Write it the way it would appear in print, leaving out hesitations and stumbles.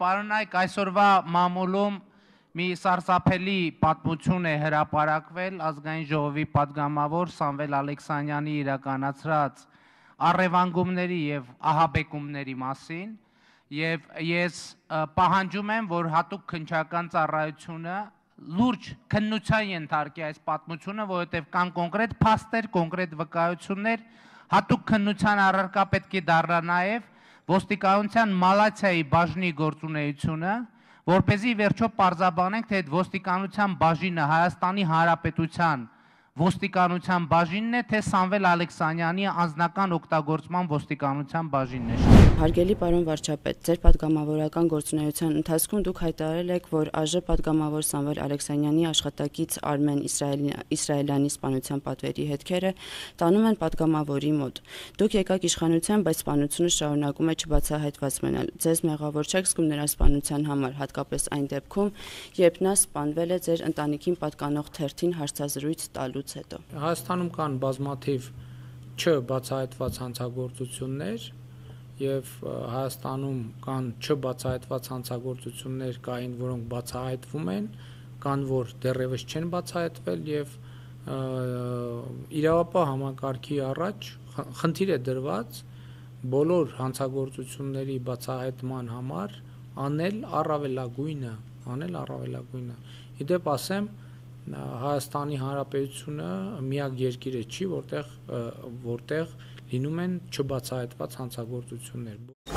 պարոնայք, այսօրվա մամուլում մի սարսափելի պատմություն է հրապարակվել ազգային ժողովի պատգամավոր Սամվել Ալեքսանյանի իրականացրած առևանգումների եւ ահաբեկումների մասին եւ ես պահանջում եմ, որ հատուկ քննչական ծառայությունը լուրջ քննության ենթարկի այս պատմությունը, որովհետեւ կան կոնկրետ փաստեր, կոնկրետ վկայություններ, հատուկ քննության առարկա պետք է դառնա նաեւ ոստիկանության մալացիայի բաժնի գործունեությունը, որպեսզի վերջո պարզաբանենք, թե այդ ոստիկանության բաժինը Հայաստանի Հանրապետության ոստիկանության բաժինն է, թե Սամվել Ալեքսանյանի անձնական օգտագործման ոստիկանության բաժինն է։ Հարգելի պարոն վարչապետ, ձեր պատգամավորական գործունեության ընթացքում դուք հայտարարել եք, որ ԱԺ պատգամավոր Սամվել Ալեքսանյանի աշխատակից Արմեն Իսրայելյանի սպանության պատվերի հետքերը տանում են պատգամավորի մոտ։ Դուք եկաք իշխանության, բայց սպանությունը շարունակում է չբացահայտված մնալ։ Ձեզ մեղավոր չեք զգում նրա սպանության համար, հատկապես այն դեպքում, երբ նա սպանվել է ձեր ընտանիքին պատկանող թերթին հարցազրույց տալուց հետո։ Հայաստանում կան բազմաթիվ չբացահայտված հանցագործություններ եւ Հայաստանում կան չբացահայտված հանցագործություններ կային, որոնք բացահայտվում են, կան, որ դեռևս չեն բացահայտվել եւ իրավապահ համակարգի առաջ խնդիր է դրված բոլոր հանցագործությունների բացահայտման համար անել առավելագույնը։ Իդեպ ասեմ, Հայաստանի Հանրապետությունը միակ երկիրը չի, որտեղ լինում են չբացահայտված հանցագործություններ։